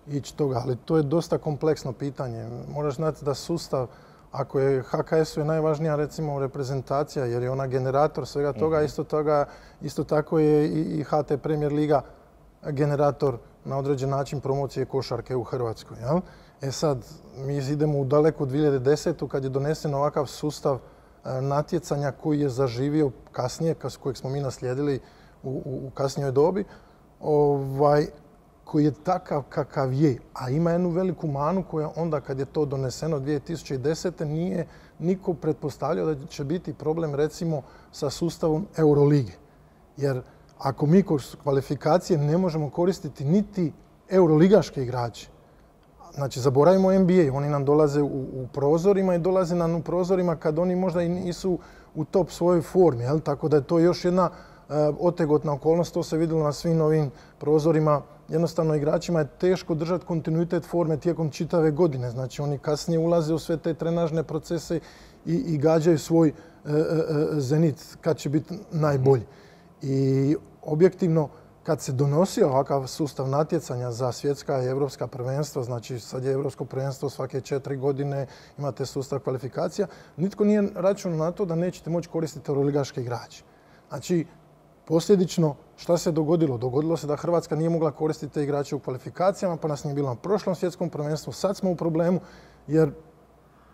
ići toga, ali to je dosta kompleksno pitanje. Moraš znati da sustav, ako je HKS-u je najvažnija recimo reprezentacija jer je ona generator svega toga, isto tako je i HT Premier Liga generator na određen način promocije košarke u Hrvatskoj. Jel? E sad, mi idemo u daleku 2010. kad je donesen ovakav sustav natjecanja koji je zaživio kasnije, kojeg smo mi naslijedili u kasnijoj dobi, koji je takav kakav je, a ima jednu veliku manu koja onda kad je to doneseno 2010. nije niko pretpostavljao da će biti problem recimo sa sustavom Eurolige. Jer ako mi kroz kvalifikacije ne možemo koristiti niti euroligaške igrače, znači zaboravimo NBA, oni nam dolaze u prozorima i dolaze nam u prozorima kad oni možda i nisu u top svojoj formi, jel? Tako da je to još jedna otegotna okolnost, to se vidjelo na svim ovim prozorima. Jednostavno igračima je teško držati kontinuitet forme tijekom čitave godine. Znači oni kasnije ulaze u sve te trenažne procese i gađaju svoj zenit kad će biti najbolji. I objektivno kad se donosio ovakav sustav natjecanja za svjetska i europska prvenstva, znači sad je europsko prvenstvo svake 4 godine, imate sustav kvalifikacija, nitko nije računao na to da nećete moći koristiti euroligaške igrače. Znači, posljedično, šta se dogodilo? Dogodilo se da Hrvatska nije mogla koristiti te igrače u kvalifikacijama, pa nas nije bilo na prošlom svjetskom prvenstvu. Sad smo u problemu jer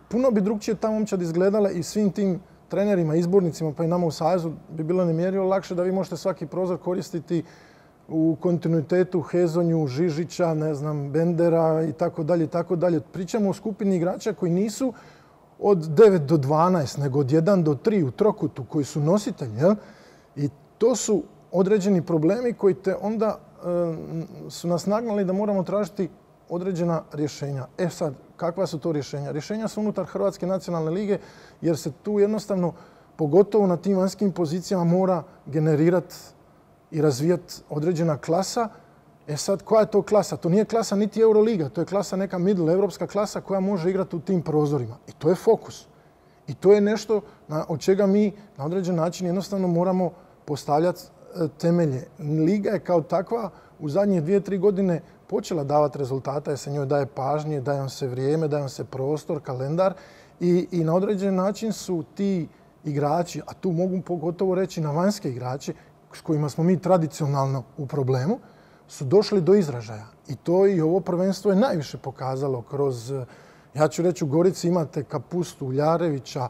puno bi drugčije ta momčad izgledala i svim tim trenerima, izbornicima pa i nama u Savezu bi bilo nemjerljivo lakše da vi možete svaki prozor koristiti u kontinuitetu Hezonju, Žižića, ne znam, Bendera i tako dalje i tako dalje. Pričamo o skupini igrača koji nisu od 9 do 12, nego od 1 do 3 u trokutu koji su nositelji. Jel? I to su određeni problemi koji te onda su nas nagnali da moramo tražiti određena rješenja. E sad, kakva su to rješenja? Rješenja su unutar Hrvatske nacionalne lige jer se tu jednostavno, pogotovo na tim vanjskim pozicijama, mora generirati i razvijati određena klasa. E sad, koja je to klasa? To nije klasa niti Euroliga, to je klasa neka middle, evropska klasa koja može igrati u tim prozorima. I to je fokus. I to je nešto od čega mi na određen način jednostavno moramo postavljati temelje. Liga je kao takva u zadnje 2-3 godine počela davati rezultata jer se njoj daje pažnje, daje vam se vrijeme, daje vam se prostor, kalendar i na određen način su ti igrači, a tu mogu pogotovo reći na vanjske igrače s kojima smo mi tradicionalno u problemu, su došli do izražaja. I to i ovo prvenstvo je najviše pokazalo kroz, ja ću reći, u Gorici imate Kapustu, Uljarevića,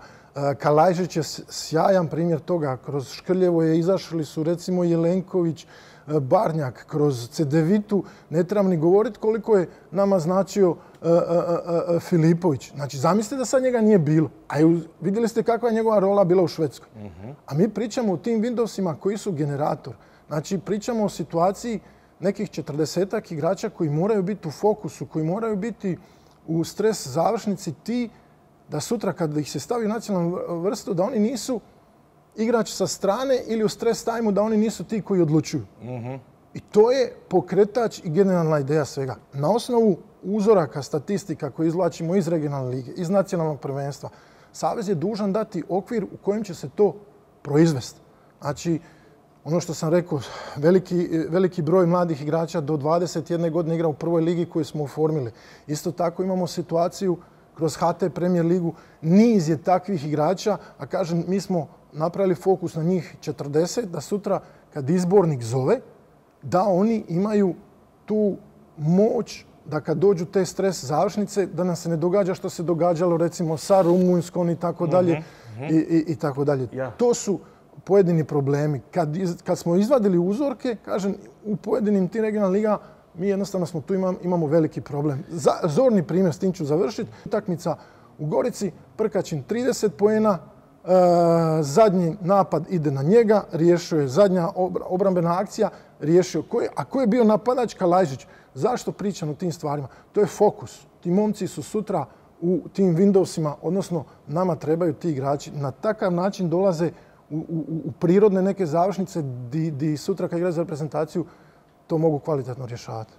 Kalajžić je sjajan primjer toga. Kroz Škrljevo izašli su recimo Jelenković, Barnjak, kroz Cedevitu. Ne trebam ni govoriti koliko je nama značio Filipović. Znači, zamislite da sad njega nije bilo. A vidjeli ste kakva je njegova rola bila u Švedskoj. A mi pričamo o tim Windowsima koji su generator. Znači, pričamo o situaciji nekih 40-ak igrača koji moraju biti u fokusu, koji moraju biti u stres završnici ti da sutra kad ih se stavi u nacionalnu vrstu da oni nisu igrač sa strane ili u stres tajmu, da oni nisu ti koji odlučuju. I to je pokretač i generalna ideja svega. Na osnovu uzoraka, statistika koje izvlačimo iz regionalne lige, iz nacionalnog prvenstva, Savez je dužan dati okvir u kojem će se to proizvesti. Znači, ono što sam rekao, veliki broj mladih igrača do 21 godine igra u prvoj ligi koju smo oformili. Isto tako imamo situaciju kroz HT Premier ligu, niz je takvih igrača, a kažem, mi smo napravili fokus na njih 40, da sutra kad izbornik zove, da oni imaju tu moć da kad dođu te stres završnice, da nam se ne događa što se događalo recimo sa Rumunjskom i tako dalje. I tako dalje. To su pojedini problemi. Kad smo izvadili uzorke, kažem, u pojedinim tim regionalnim ligama, mi jednostavno smo tu imamo veliki problem. Zorni primjer, s tim ću završiti. Utakmica u Gorici, Prkačin 30 poena, zadnji napad ide na njega, riješio je zadnja obrambena akcija, riješio. A ko je bio napadač? Kalajžić. Zašto pričam o tim stvarima? To je fokus. Ti momci su sutra u tim Windowsima, odnosno nama trebaju ti igrači. Na takav način dolaze u prirodne neke završnice di sutra kad igraju za reprezentaciju to mogu kvalitetno rješavati.